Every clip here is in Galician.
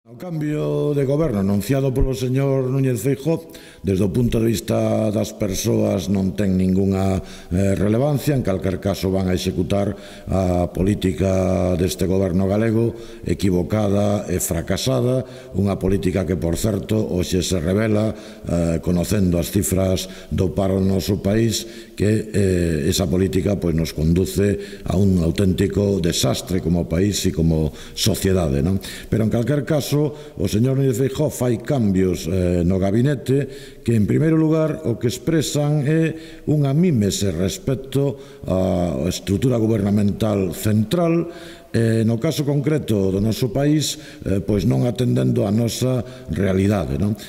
O cambio de goberno anunciado polo señor Núñez Feijóo, desde o punto de vista das persoas non ten ningunha relevancia, en calquer caso van a executar a política deste goberno galego equivocada e fracasada, unha política que, por certo, hoxe se revela, conocendo as cifras do paro no noso país, que esa política nos conduce a un auténtico desastre como país e como sociedade, non? Pero, en calquer caso, o señor Núñez Feijóo fai cambios no gabinete que, en primeiro lugar, o que expresan é unha mímese respecto á estrutura gubernamental central, no caso concreto do noso país, pois non atendendo a nosa realidade, non?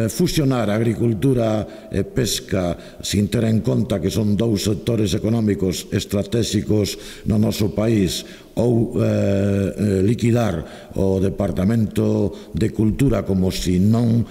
Fusionar agricultura e pesca sin ter en conta que son dous sectores económicos estratégicos no noso país, ou liquidar o Departamento de Cultura como se non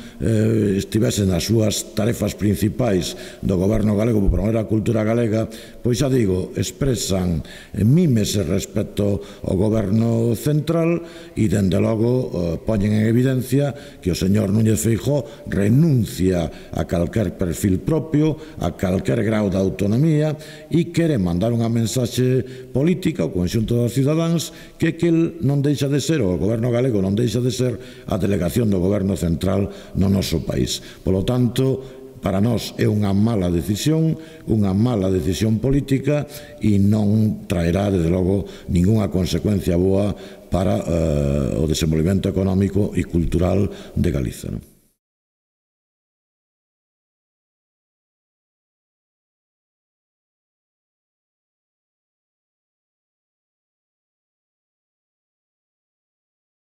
estivesen nas súas tarefas principais do goberno galego por promover a cultura galega, pois xa digo, expresan mímese respecto ao goberno central e, dende logo, poñen en evidencia que o señor Núñez Feijóo renuncia a calquer perfil propio, a calquer grau de autonomía, e quere mandar unha mensaxe política ao conxunto dos cidadáns que el non deixa de ser, o goberno galego non deixa de ser a delegación do goberno central no noso país. Polo tanto, para nós é unha mala decisión política e non traerá, desde logo, ningunha consecuencia boa para o desenvolvemento económico e cultural de Galiza.